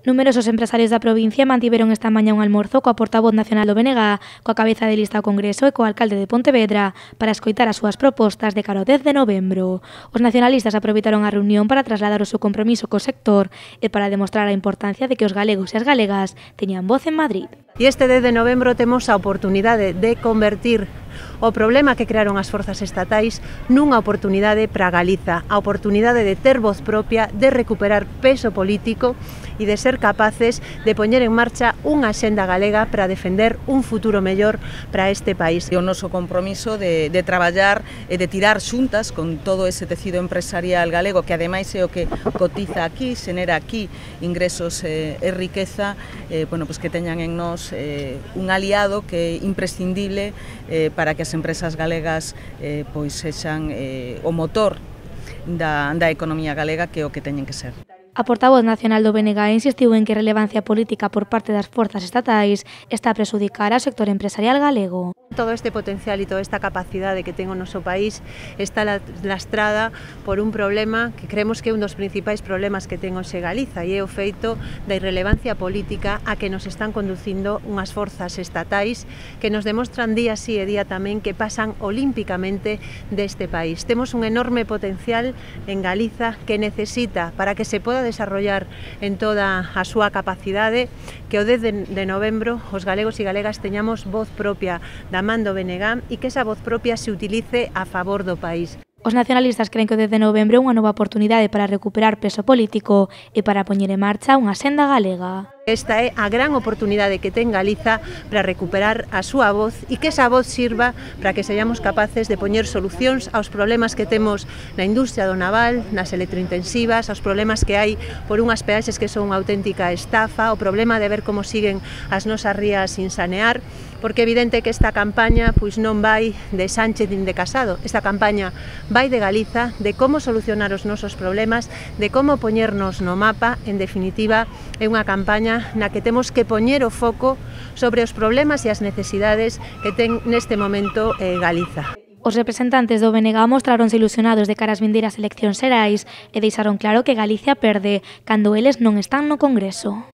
Numerosos empresarios da provincia mantiveron esta mañá un almorzo coa portavoz nacional do BNG, coa cabeza de lista ao Congreso e co alcalde de Pontevedra para escoitar as súas propostas de cara ao 10 de novembro. Os nacionalistas aproveitaron a reunión para trasladar o seu compromiso co sector e para demostrar a importancia de que os galegos e as galegas teñan voz en Madrid. E este 10 de novembro temos a oportunidade de convertir o problema que crearon as forzas estatais nunha oportunidade para Galiza, a oportunidade de ter voz propia, de recuperar peso político e de ser capaces de poñer en marcha unha axenda galega para defender un futuro mellor para este país. O noso compromiso de traballar e de tirar xuntas con todo ese tecido empresarial galego que ademais é o que cotiza aquí, xenera aquí ingresos e riqueza, pues que teñan en nós un aliado que é imprescindible para que as empresas galegas pois sexan o motor da economía galega, que é o que teñen que ser. A portavoz nacional do BNG insistiu en que a relevancia política por parte das forzas estatais está a prexudicar ao sector empresarial galego. Todo este potencial e toda esta capacidade que ten o noso país está lastrada por un problema que creemos que é un dos principais problemas que ten hoxe Galiza, e é o feito da irrelevancia política a que nos están conducindo unhas forzas estatais que nos demostran día sí e día tamén que pasan olímpicamente deste país. Temos un enorme potencial en Galiza que necesita, para que se poda desarrollar en toda a súa capacidade, que o 10 de novembro os galegos e galegas teñamos voz propia da man do BNG e que esa voz propia se utilice a favor do país. Os nacionalistas creen que o 10 de novembro é unha nova oportunidade para recuperar peso político e para poñer en marcha unha senda galega. Esta é a gran oportunidade que ten Galiza para recuperar a súa voz e que esa voz sirva para que sejamos capaces de poñer solucións aos problemas que temos na industria do naval, nas electrointensivas, aos problemas que hai por unhas peaxes que son unha auténtica estafa, o problema de ver como siguen as nosas rías sin sanear, porque é evidente que esta campaña pois non vai de Sánchez nin de Casado, esta campaña vai de Galiza, de como solucionar os nosos problemas, de como poñernos no mapa, en definitiva, é unha campaña na que temos que poñer o foco sobre os problemas e as necesidades que ten neste momento Galiza. Os representantes do BNG mostráronse ilusionados de cara ás vindeiras eleccións xerais e deixaron claro que Galicia perde cando eles non están no Congreso.